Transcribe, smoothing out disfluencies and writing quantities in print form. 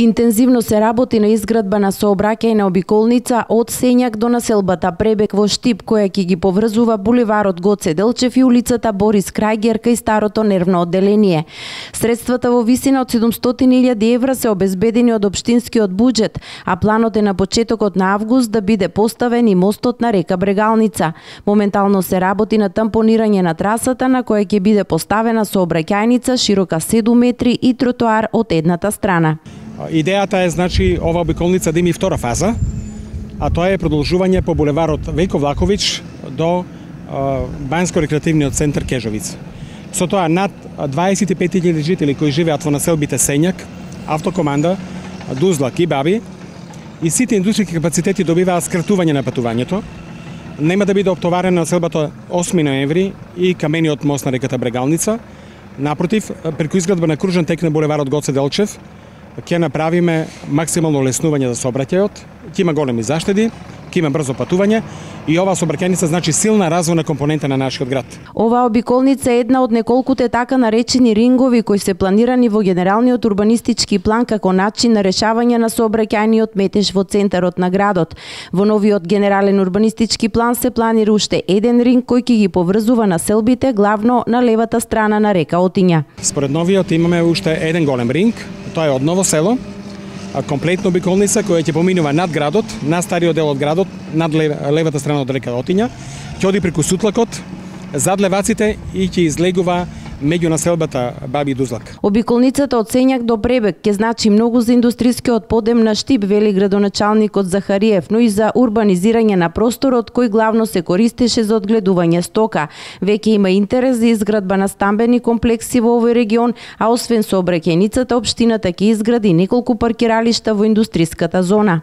Интензивно се работи на изградба на сообраќајна обиколница од Сењак до населбата Пребек во Штип, која ќе ги поврзува булеварот Гоце Делчев и улицата Борис Крајгер кај старото нервно одделение. Средствата во висина од 700.000 евра се обезбедени од општинскиот буџет, а планот е на почетокот на август да биде поставен и мостот на река Брегалница. Моментално се работи на тампонирање на трасата на која ќе биде поставена сообраќајница широка 7 метри и тротоар од едната страна. Идејата е, значи, ова обиколница да има и втора фаза, а тоа е продолжување по булеварот Вејко Влаковиќ до Бањско-рекреативниот центар Кежовица. Со тоа над 25.000 жители кои живеат во населбите Сењак, Автокоманда, Дузлак и Баби, и сите индустријски капацитети добиваат скратување на патувањето. Нема да биде оптоварена населбата 8 ноември и камениот мост на реката Брегалница. Напротив, преку изградба на кружен тек на булеварот Гоце Делчев, ќе направиме максимално леснување за сообраќајот, ќе има големи заштеди, ќе има брзо патување и оваа сообраќајница значи силна развојна компонента на нашиот град. Оваа обиколница е една од неколкуте така наречени рингови кои се планирани во генералниот урбанистички план како начин на решавање на сообраќајниот метеж во центарот на градот. Во новиот генерален урбанистички план се планира уште еден ринг кој ќе ги поврзува населбите главно на левата страна на река Отиња. Според новиот имаме уште еден голем ринг, тоа е од Ново село, комплетна обиколница која ќе поминува над градот, на стариот дел од градот, над левата страна од река Отиња, ќе оди преку Сутлакот, зад Леваците и ќе излегува меѓу населбата Баби и Дузлак. Обиколницата од Сењак до Пребек ќе значи многу за индустрискиот подем на Штип, вели градоначалникот Захариев, но и за урбанизирање на просторот кој главно се користеше за одгледување стока. Веќе има интерес за изградба на стамбени комплекси во овој регион, а освен сообраќајницата, општината ќе изгради неколку паркиралишта во индустриската зона.